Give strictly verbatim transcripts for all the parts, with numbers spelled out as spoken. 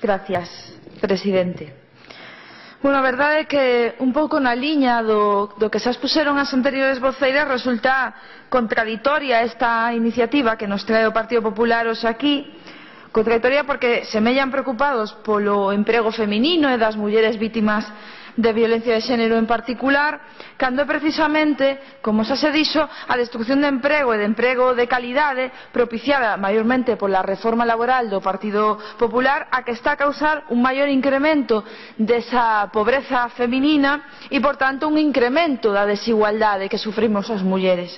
Gracias, presidente. Bueno, a verdade é que un pouco na liña do, do que se expuseron as anteriores voceiras resulta contraditoria esta iniciativa que nos trae o Partido Popular hoxe aquí. Contraditoria porque semellan preocupados polo emprego feminino e das mulleres vítimas de violencia de xénero en particular, cando é precisamente, como xa se dixo, a destrucción de emprego e de emprego de calidade propiciada maiormente pola reforma laboral do Partido Popular a que está a causar un maior incremento desa pobreza feminina e, por tanto, un incremento da desigualdade que sufrimos as mulleres.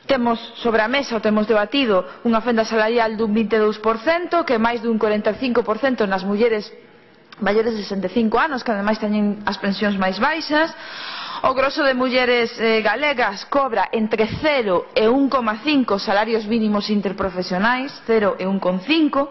Temos sobre a mesa, ou temos debatido, unha fenda salarial dun vinte e dous por cento, que é máis dun corenta e cinco por cento nas mulleres maiores de sesenta e cinco anos, que ademais teñen as pensións máis baixas. O grosso de mulleres eh, galegas cobra entre cero e un coma cinco salarios mínimos interprofesionais, cero e un coma cinco.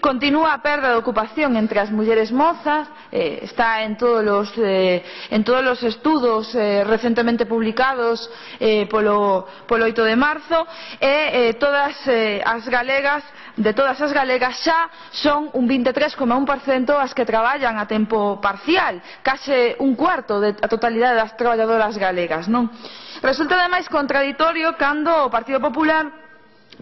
Continúa a perda de ocupación entre as mulleres mozas, eh, está en todos os, eh, en todos os estudos eh, recentemente publicados eh, polo, polo oito de marzo, e eh, todas eh, as galegas de todas as galegas xa son un vinte e tres coma un por cento as que traballan a tempo parcial, case un cuarto da totalidade das traballadoras galegas, non? Resulta ademais contraditorio cando o Partido Popular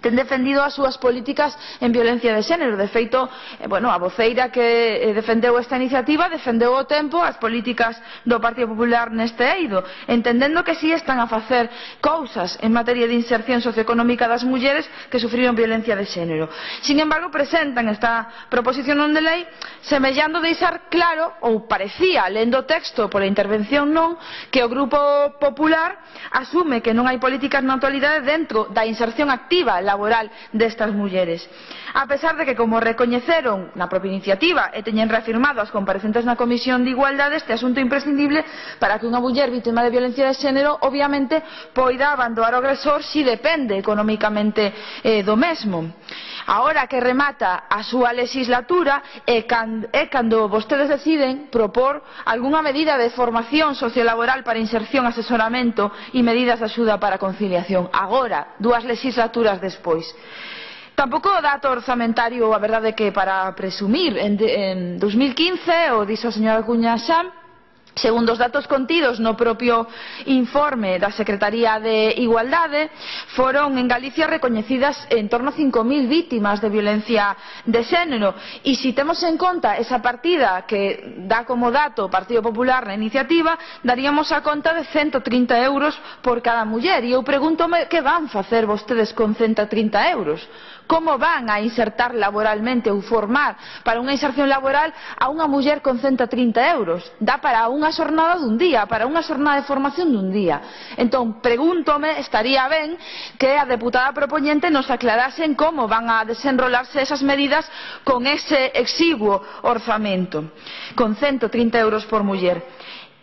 ten defendido as súas políticas en violencia de xénero. De feito, eh, bueno, a voceira que eh, defendeu esta iniciativa defendeu o tempo as políticas do Partido Popular neste eido, entendendo que si están a facer cousas en materia de inserción socioeconómica das mulleres que sufriron violencia de xénero. Sin embargo, presentan esta proposición non de lei semellando deixar claro, ou parecía, lendo o texto pola intervención non, que o Grupo Popular asume que non hai políticas na actualidade dentro da inserción activa laboral destas mulleres, a pesar de que, como recoñeceron na propia iniciativa e teñen reafirmado as comparecentes na Comisión de Igualdade, este asunto é imprescindible para que unha muller vítima de violencia de xénero obviamente poida abandonar o agresor si depende economicamente eh, do mesmo. Agora que remata a súa legislatura é cando vostedes deciden propor algunha medida de formación sociolaboral para inserción, asesoramento e medidas de axuda para a conciliación. Agora, dúas legislaturas despois. Tampouco o dato orzamentario, a verdade que para presumir, en, en dos mil quince, o dixo a señora Cuña xa, segundo os datos contidos no propio informe da Secretaría de Igualdade, foron en Galicia recoñecidas en torno a cinco mil vítimas de violencia de xénero, e se temos en conta esa partida que dá como dato o Partido Popular na iniciativa, daríamos a conta de cento trinta euros por cada muller. E eu pregúntome que van facer vostedes con cento trinta euros. Como van a insertar laboralmente ou formar para unha inserción laboral a unha muller con cento trinta euros? Dá para unha xornada dun día, para unha xornada de formación dun día. Entón, pregúntome, estaría ben que a deputada propoñente nos aclarasen como van a desenrolarse esas medidas con ese exiguo orzamento, con cento trinta euros por muller.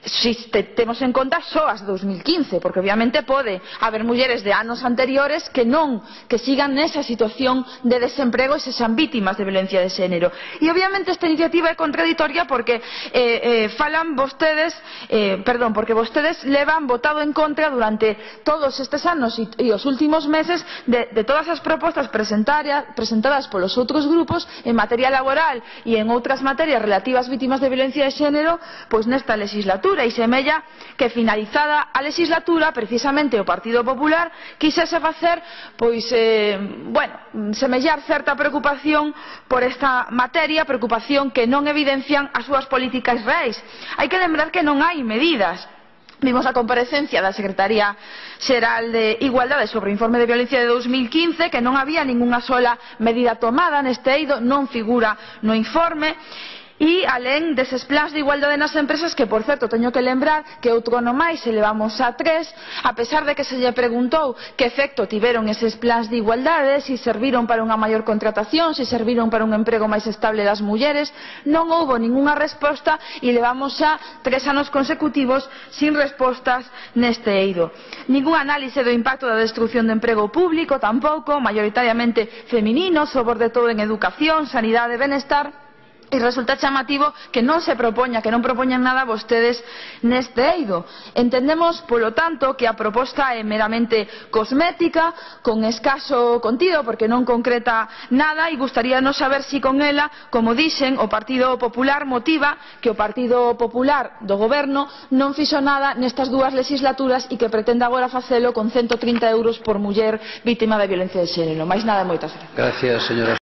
Si temos en conta só as dos mil quince, porque obviamente pode haber mulleres de anos anteriores que non, que sigan nesa situación de desemprego e se xan vítimas de violencia de xénero. E obviamente esta iniciativa é contraditoria porque eh, eh, falan vostedes, eh, perdón, porque vostedes levan votado en contra durante todos estes anos e, e os últimos meses de, de todas as propostas presentadas polos outros grupos en materia laboral e en outras materias relativas ás vítimas de violencia de xénero, pois nesta legislatura. E semella que finalizada a legislatura precisamente o Partido Popular quixese facer pois, eh, bueno, semellar certa preocupación por esta materia, preocupación que non evidencian as súas políticas reais. Hai que lembrar que non hai medidas. Vimos a comparecencia da Secretaría Xeral de Igualdade sobre o informe de violencia de dos mil quince, que non había ningunha sola medida tomada neste eido, non figura no informe. E alén deses plans de igualdade nas empresas, que por certo teño que lembrar que outro ano máis elevamos a tres, a pesar de que se lle preguntou que efecto tiveron eses plans de igualdade, se serviron para unha maior contratación, se serviron para un emprego máis estable das mulleres, non houbo ningunha resposta e levamos xa tres anos consecutivos sin respostas neste eido. Ningún análise do impacto da destrucción do emprego público tampouco, maioritariamente feminino, sobre todo en educación, sanidade e benestar. E resulta chamativo que non se propoña, que non propoñan nada vostedes neste eido. Entendemos, polo tanto, que a proposta é meramente cosmética, con escaso contido, porque non concreta nada, e gustaríanos saber si con ela, como dixen, o Partido Popular motiva que o Partido Popular do Goberno non fixo nada nestas dúas legislaturas e que pretende agora facelo con ciento trinta euros por muller vítima de violencia de xénero. Mais nada, moitas gracias. Gracias, señora.